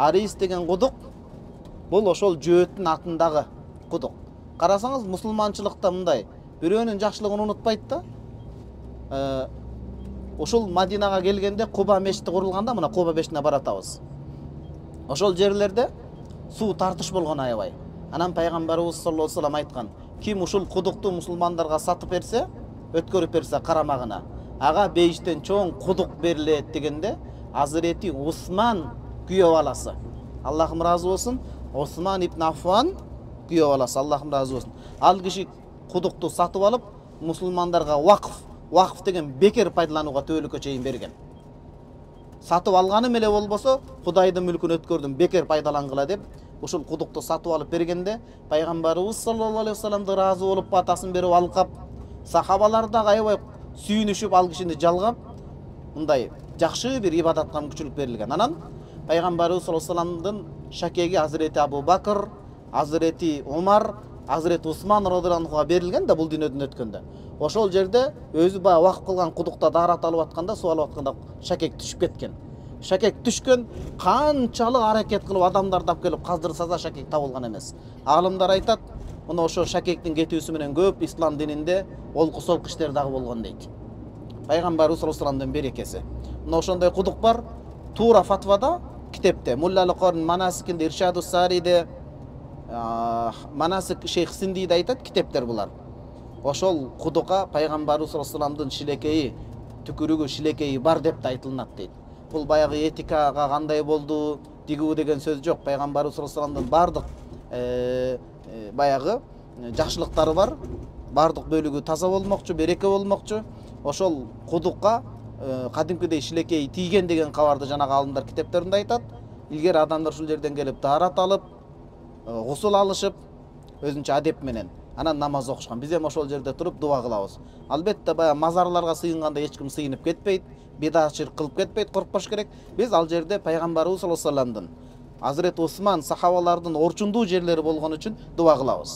Арис деген кудук бул ошол жөөттүн атындагы кудук. Карасаңыз мусулманчылыкта мындай бирөөнүн жакшылыгын унутпайт да. Ошол Мадинага келгенде Куба мешити курулганда, мына Куба мешитине баратабыз. Ошол жерлерде суу тартыш болгон аябай. Анан пайгамбарыбыз саллаллаху алейхи вассалам айткан: ким ушул кудукту мусулмандарга сатып берсе, өткөрүп берсе карамагына, ага бейиштен чоң кудук берилет дегенде, Азирети Усман күйөө баласы. Аллахым разы болсун. Осман ибн Аффан күйөө баласы. Аллахым разы болсун. Ал киши кудукту сатып алып, мусулмандарга вакф деген бекер пайдаланууга төөлүккө чейин берген. Сатып алганым эле болбосо, Кудайдын мүлкүн өткөрдүм, бекер пайдалангыла деп, ушул кудукту сатып алып бергенде, пайгамбарыбыз саллаллаху алейхи вассаламды разы болуп, батасын берип алкап, сахабалар да аябай сүйүнүшүп ал кишини жалгап, мындай жакшы бир ибадатка мүмкүнчүлүк берилген. Анан пайгамбарыбыз саллаллаху алейхи вассаламдын шакеги Азирети Абу Бакр, Азирети Умар, Азирети Усман радыйаллаху анхуга берилген да бул дүйнөдөн өткөндө. Ошол жерде өзү бая вакыф кылган кудукта даарат алып атканда, суу алып атканда шакек түшүп кеткен. Шакек түшкөн, канчалык аракет кылып адамдар тап келип каздырса да шакек табылган эмес. Алымдар айтат, мына ошо шакектин кетүүсү менен көп ислам дининде олку солку иштер дагы болгон дейт. Пайгамбарыбыз саллаллаху алейхи вассаламдын берекеси. Мына ошондой кудук бар. Тура фатвада китепте, Мулла ал-Корн Манасикинде, Иршаду Сариде, Манасик Шейх Синдиде айтат, китептер булар. Ошол кудукка пайгамбарыбыз саллаллаху алейхи вассаламдын шилекейи, түкүрүгү, шилекейи бар деп айтылат дейт. Бул баягы этикага кандай болду, дигүү деген сөз жок. Пайгамбарыбыз саллаллаху алейхи вассаламдын бардык баягы жакшылыктары бар. Бардык бөлүгү таза болмокчу, береке болмокчу. Ошол кудукка кадимкидей шилекейи тийген деген кабарды жанагы алымдар китептеринде айтат. Илгери адамдар ушул жерден келип даарат алып, гусул алышып, өзүнчө адеп менен анан намаз окушкан. Биз эми ошол жерде туруп дуа кылабыз. Албетте баягы мазарларга сыйынганда эч ким сыйынып кетпейт, бидатчылык кылып кетпейт, коркпош керек. Биз ал жерде пайгамбарыбыз саллаллаху алейхи вассаламдын, Азирет Усман сахабалардын орчундуу жерлери болгон үчүн дуа кылабыз.